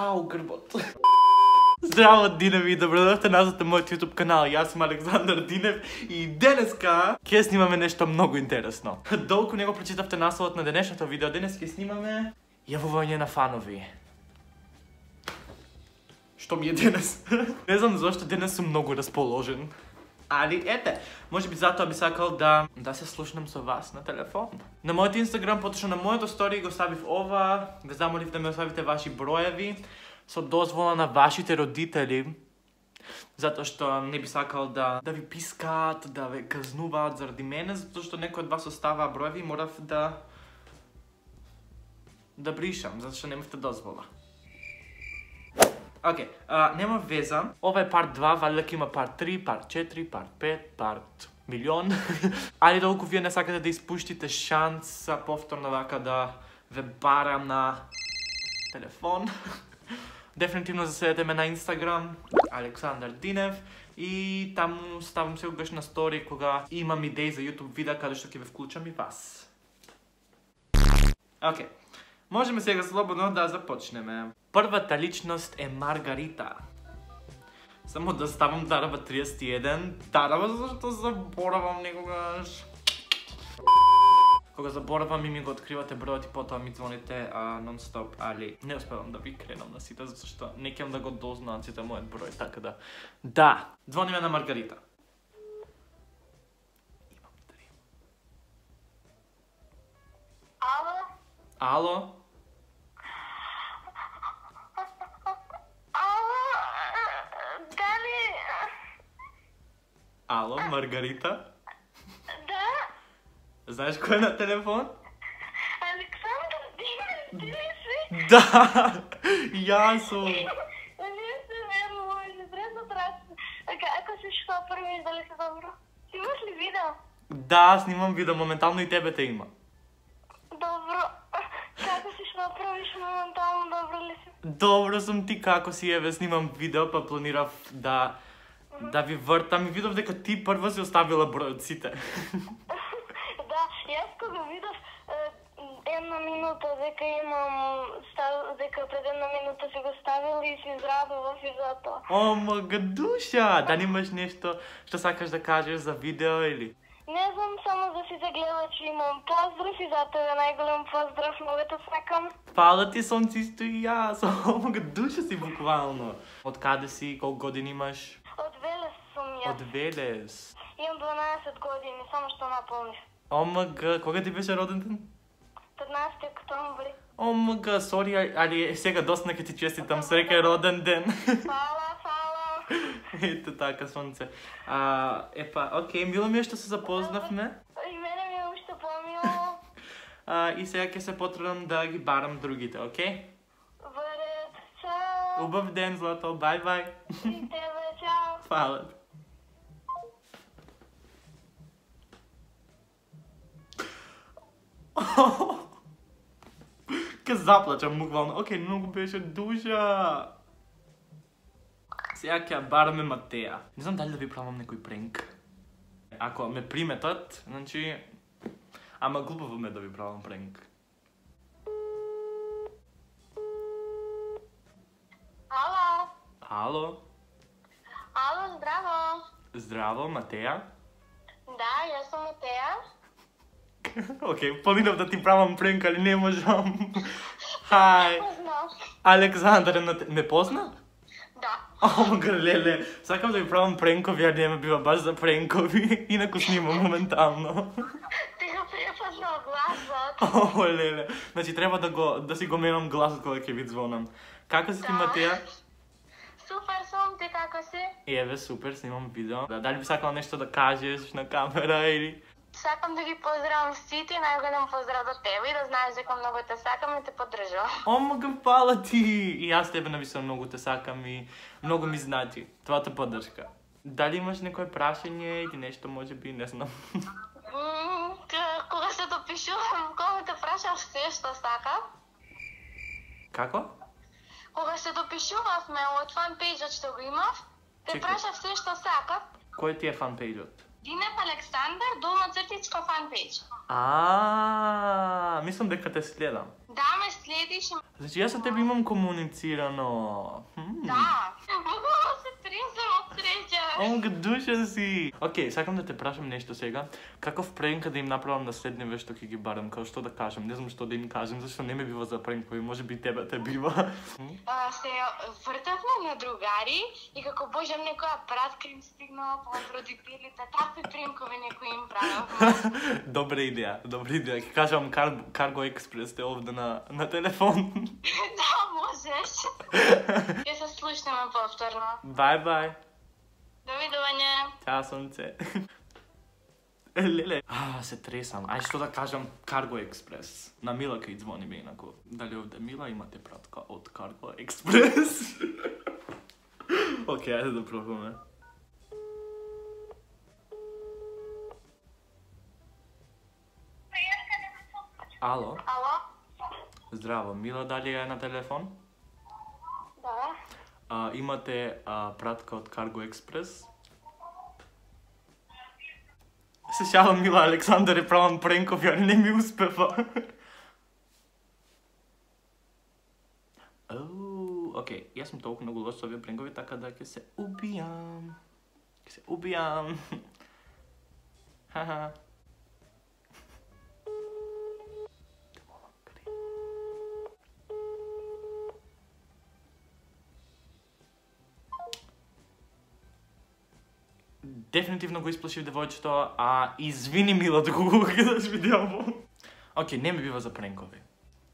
Ау, грбот. Здраво, Диневи, и добродојавте назад на мојот YouTube канал. Јас сум Александар Динев и денеска ќе снимаме нешто многу интересно. Долку не го прочитавте насловот на денешното видео, денес ќе снимаме јавување на фанови. Што ми е денес? Не знам зашто денес сум многу расположен. Али, ете, може би затоа би сакал да се слушнам со вас на телефон. На мојот Инстаграм, поточно на мојот стори го ставив ова, ве замолив да ме оставите ваши броеви, со дозвола на вашите родители, затоа што не би сакал да ви пискаат, да ве казнуваат заради мене, затоа што некој од вас оставаа броеви и морав да бришам, затоа што немавте дозвола. Океј, нема веза. Ова е парт 2, вали дека има парт 3, парт 4, парт 5, парт милион. Али долку вие не сакате да испуштите шанса повторно вака да ве барам на телефон. Дефинитивно заседете ме на Инстаграм, Александар Динев, и таму ставам секогаш на стори кога имам идеи за YouTube видеа каде што ќе ве вклучам и вас. Океј, можеме сега слободно да започнеме. Првата личност е Маргарита. Само да ставам Дарава 31. Дарава зашто заборавам некогаш. Кога заборавам и ми го откривате бројот и потоа ми звоните нон-стоп, али не успевам да ви кренам на сите, зашто не кем да го дознаат сите мојот број, така да. Да, звониме на Маргарита. Имам дрим. Ало? Ало? Дали? Ало, Маргарита? Да? Знаеш кој е на телефон? Александър Динев, ти ли си? Да, јас сум. Не се верувам, не трябва да трачи. Ако си што први, дали си добро? Ти имаш ли видео? Да, снимам видео, моментално и тебе те има. Добро. Како си што правиш моментално, добро ли си? Добро сум, ти како си, еве, снимам видео, па планирав да ви вртам и видов дека ти прва си оставила бројот сите. Да, јас кога видов една минута дека имам, дека пред една минута си го ставил и си израдував и затоа. О, мага душа! Да немаш нешто што сакаш да кажеш за видео или? Не знам, само за сите гледачи имам поздрав и за тебе најголем поздрав, многу те сакам. Фала ти, сонцисто и јас. О, мага душа си буквално. Од каде си, колку години имаш? Од Велес сум јас. Од Велес. Имам 12 години, само што наполнив. О, мага, кога ти беше роден ден? 15 октомври. О, мага, сори, али сега доста ќе ти честитам среќен роден ден. Фала. Ето така, сонце. Епа, окей, мило ми е што се запознавме. И мене ми е уште помило. И сега ќе се потрудам да ги барам другите, окей? Во ред, чао. Убав ден, злато, бај-бај. И тебе, чао. Фала. Ке заплачам буквално. Окей, многу беше душа. Сега ќе бараме Матеја. Не знам дали да ви правам некој пренк. Ако ме приметат, значи... Ама глупаво ме да ви правам пренк. Ало. Ало? Ало, здраво. Здраво, Матеја? Да, јас сум Матеја. Окей, планирав да ти правам пренк, али не можам. Хај. Познав. Александар, ме позна? Да. О, леле, сакам да ви правам пренкови, а не ме бива баш за пренкови, инаку снимам моментално. Ти го препознал гласот. О, леле, значи треба да си го менам гласот кога ќе ви звонам. Како си ти, Матеја? Супер сум, ти како си? Еве, супер, снимам видео. Дали би сакала нешто да кажеш на камера или... Сакам да ги поздравам сите, најголем поздрав до тебе и да знаеш дека многу те сакам и те поддржувам. О, мага, фала ти! И јас тебе навистина многу те сакам и многу ми значи твојата поддршка. Дали имаш некој прашање или нешто, може би, не знам. Кога се допишувам, кога те прашав се што сакам? Како? Кога се допишувавме од фанпејџот што го имав, те прашав се што сакав. Кој ти е фанпејџот? Динев Александар, долна цртичка фанпејџ. Мислам дека те следам. Да, ме следам. седиш и... Значи јас со тебе имам комуницирано. Да. Буквално се тресам од среќа. Онга душа си. Океј, сакам да те прашам нешто сега. Каков пренк да им направам на следниве што ќе ги барам, како што да кажам, не знам што да им кажам, зашто не ме бива за пренкови, можеби тебе те бива. Се вртавме на другари и како божам некоја пратка им стигнала по родителите, такви пренкови некои им правевме. Добра идеја. Ќе кажам Cargo Express те овде на телефон. Да, можеш. Ќе се слушнеме повторно. Бај. Довидување. Ćao сонце. Леле. Се тресам. Ај што да кажам Cargo Express. На Мила кај звони ми инаку. Дали овде Мила имате пратка од Cargo Express? Океј, ајде да пробаме. Ало? Ало? Здраво, Мила дали е на телефон? Да. Имате пратка од Cargo Express? Се шалам, Мила, Александар е правам пренков, ја не ми успева. Океј, јас сум толку многу лош со овие пренкови, така да ќе се убијам. Ха-ха. Дефинитивно го исплашив девојчето, извини Мила доколку го гледаш видео. Океј, не ме бива за пренкови.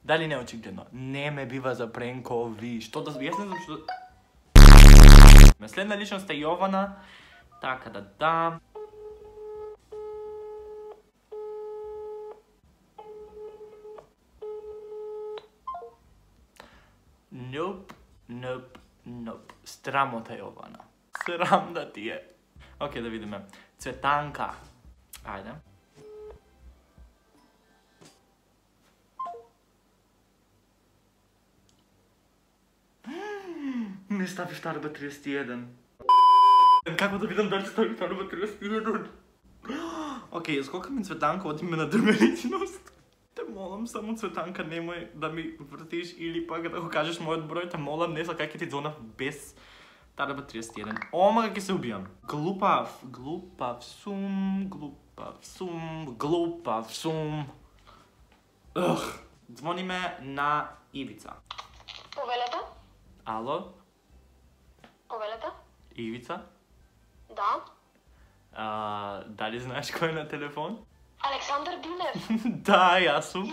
Дали не очигледно? Не ме бива за пренкови. Што да... Јас не знам што... Следна личност е Јована. Така да. Nope. Страмота Јована. Срам да ти е. Океј, да видиме. Цветанка. Ајде. Не ставиш Тарба 31. Како да видам дали ставиш Тарба 31? Океј, скока ми Цветанка, оди ме на друга личност. Те молам, само Цветанка, немој да ми вртиш или пак да го кажеш мојот број, те молам, не сакај ќе ти звонав без Тарба 31. Ома ќе се убијам. Глупав сум. Звониме на Ивица. Повелете? Ало? Повелете? Ивица? Да. Дали знаеш кој е на телефон? Александар Динев. Да, јас сум.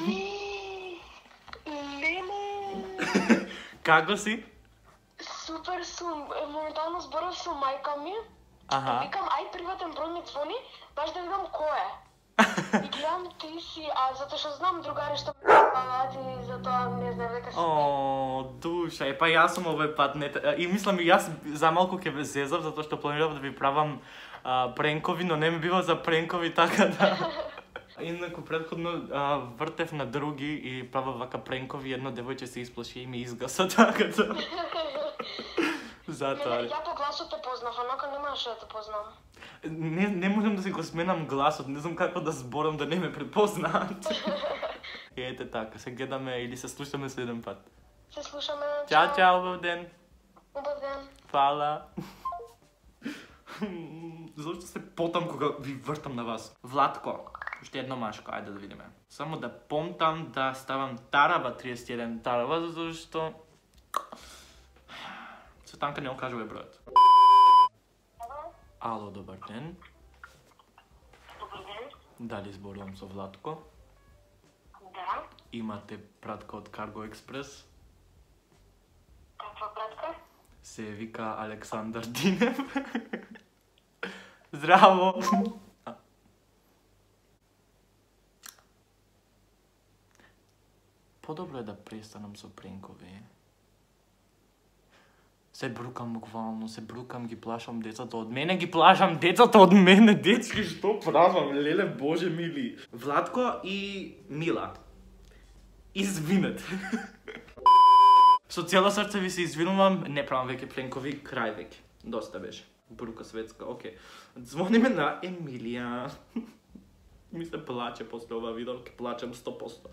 Леле. Како си? Супер сум. Моментално зборав со мајка ми. Викам, ај приватен број ми звони, баш да видам кој е. И гледам ти си, затоа што знам другари што ме пават и затоа не знам дека си. Душа, па јас сум овој пат и мислам и јас за малку ќе ве зезав затоа што планирав да ви правам пренкови, но не ми бива за пренкови, така да. Инаку претходно вртев на други и правав вака пренкови, едно девојче се исплаши и ми изгаса, така да. Затоа. Ја по гласот те познав, онака не можеше да те познам. Не можам да си го сменам гласот, не знам како да зборам да не ме препознаат. Ете така, се гледаме или се слушаме следен пат. Се слушаме. Чао, убав ден. Убав ден. Фала. Зошто се потам кога ви вртам на вас? Владко, уште едно машко, ајде да видиме. Само да помтам да ставам Тарава 31 Тарава, зашто Цветанка не окажува бројот. Ало, добар ден. Добар ден. Дали зборувам со Владко? Да. Имате пратка од Cargo Express? Каква пратка? Се вика Александар Динев. Здраво! Подобро е да престанам со пренкови. Се брукам буквално, ги плашам децата од мене, ги плашам децата од мене, дечки, што правам, леле, боже мили. Владко и Мила. Извинете. Со цело срце ви се извинувам, не правам веќе пленкови, крај веќе. Доста беше. Брука светска, окей. Звониме на Емилија. Ми се плаче после ова видео, ќе плачем 100%.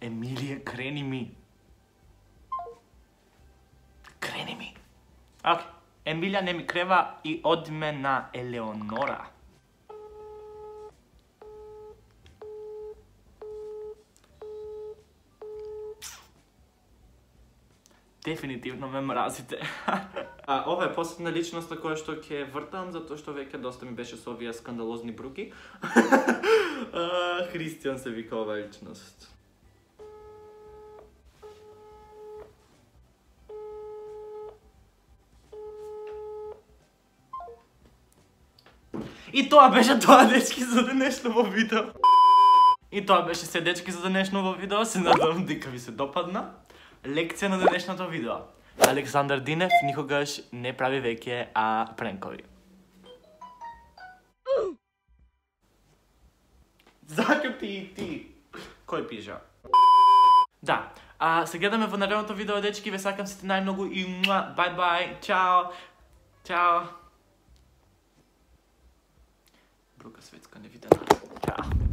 Емилија, крени ми. Крени ми. Окей. Емилија не ми крева и одиме на Елеонора. Дефинитивно ме мразите. Ова е последна личност на која што ќе вртам, затоа што веќе доста ми беше со овие скандалозни бруки. Христијан се вика ова личност. И тоа беше тоа, дечки, за денешново видео. И тоа беше се, дечки, за денешново видео. Се надам дека ви се допадна. Лекција на денешното видео. Александар Динев никогаш не прави веќе пренкови. Закрти и ти. Кој пижа? Да. Се гледаме во наредното видео, дечки. Ве сакам сите најмногу и бај-бај. Чао. Чао. Брука светска невидена. Чао.